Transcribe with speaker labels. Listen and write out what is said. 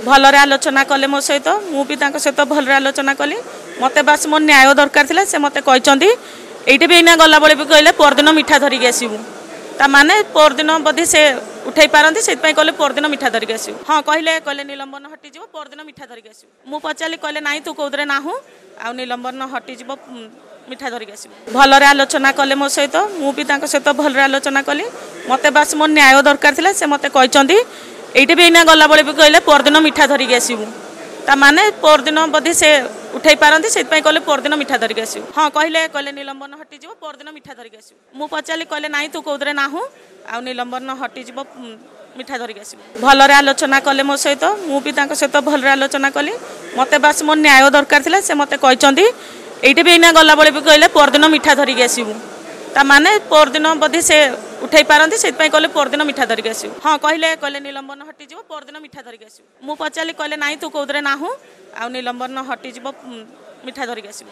Speaker 1: ଭଲରେ ଆଲୋଚନା କଲେ ମୋ ସହିତ, ମୁଁ ବି ତାଙ୍କ ସହିତ ଭଲରେ ଆଲୋଚନା କଲି। ମୋତେ ବାସ୍ ମୋ ନ୍ୟାୟ ଦରକାର ଥିଲା। ସେ ମୋତେ କହିଛନ୍ତି, ଏଇଠି ବି ଏଇନା ଗଲାବେଳେ ବି କହିଲେ ପରଦିନ ମିଠା ଧରିକି ଆସିବୁ। ତା ମାନେ ପରଦିନ ବୋଧେ ସେ ଉଠେଇ ପାରନ୍ତି, ସେଥିପାଇଁ କହିଲେ ପରଦିନ ମିଠା ଧରିକି ଆସିବୁ। ହଁ, କହିଲେ ନିଲମ୍ବନ ହଟିଯିବ, ପରଦିନ ମିଠା ଧରିକି ଆସିବୁ। ମୁଁ ପଚାରିଲି, କହିଲେ ନାଇଁ, ତୁ କେଉଁଥିରେ ନାହୁଁ ଆଉ ନିଲମ୍ବନ ହଟିଯିବ, ମିଠା ଧରିକି ଆସିବୁ। ଭଲରେ ଆଲୋଚନା କଲେ ମୋ ସହିତ, ମୁଁ ବି ତାଙ୍କ ସହିତ ଭଲରେ ଆଲୋଚନା କଲି। ମୋତେ ବାସ୍ ମୋ ନ୍ୟାୟ ଦରକାର ଥିଲା। ସେ ମୋତେ କହିଛନ୍ତି, ଏଇଠି ବି ଏଇନା ଗଲାବେଳେ ବି କହିଲେ ପରଦିନ ମିଠା ଧରିକି ଆସିବୁ। ତା ମାନେ ପରଦିନ ବୋଧେ ସେ ଉଠେଇ ପାରନ୍ତି, ସେଥିପାଇଁ କହିଲେ ପରଦିନ ମିଠା ଧରିକି ଆସିବୁ। ହଁ, କହିଲେ ନିଲମ୍ବନ ହଟିଯିବ, ପରଦିନ ମିଠା ଧରିକି ଆସିବୁ। ମୁଁ ପଚାରିଲି, କହିଲେ ନାଇଁ, ତୁ କେଉଁଥିରେ ନାହୁଁ ଆଉ ନିଲମ୍ବନ ହଟିଯିବ, ମିଠା ଧରିକି ଆସିବୁ। ଭଲରେ ଆଲୋଚନା କଲେ ମୋ ସହିତ, ମୁଁ ବି ତାଙ୍କ ସହିତ ଭଲରେ ଆଲୋଚନା କଲି। ମୋତେ ବାସ୍ ମୋ ନ୍ୟାୟ ଦରକାର ଥିଲା। ସେ ମୋତେ କହିଛନ୍ତି, ଏଇଠି ବି ଏଇନା ଗଲାବେଳେ ବି କହିଲେ ପରଦିନ ମିଠା ଧରିକି ଆସିବୁ। ତା ମାନେ ପରଦିନ ବୋଧେ ସେ ଉଠେଇ ପାରନ୍ତି, ସେଥିପାଇଁ କହିଲେ ପରଦିନ ମିଠା ଧରିକି ଆସିବୁ। ହଁ, କହିଲେ ନିଲମ୍ବନ ହଟିଯିବ, ପରଦିନ ମିଠା ଧରିକି ଆସିବୁ। ମୁଁ ପଚାରିଲି, କହିଲେ ନାଇଁ, ତୁ କେଉଁଥିରେ ନାହୁଁ ଆଉ ନିଲମ୍ବନ ହଟିଯିବ, ମିଠା ଧରିକି ଆସିବୁ।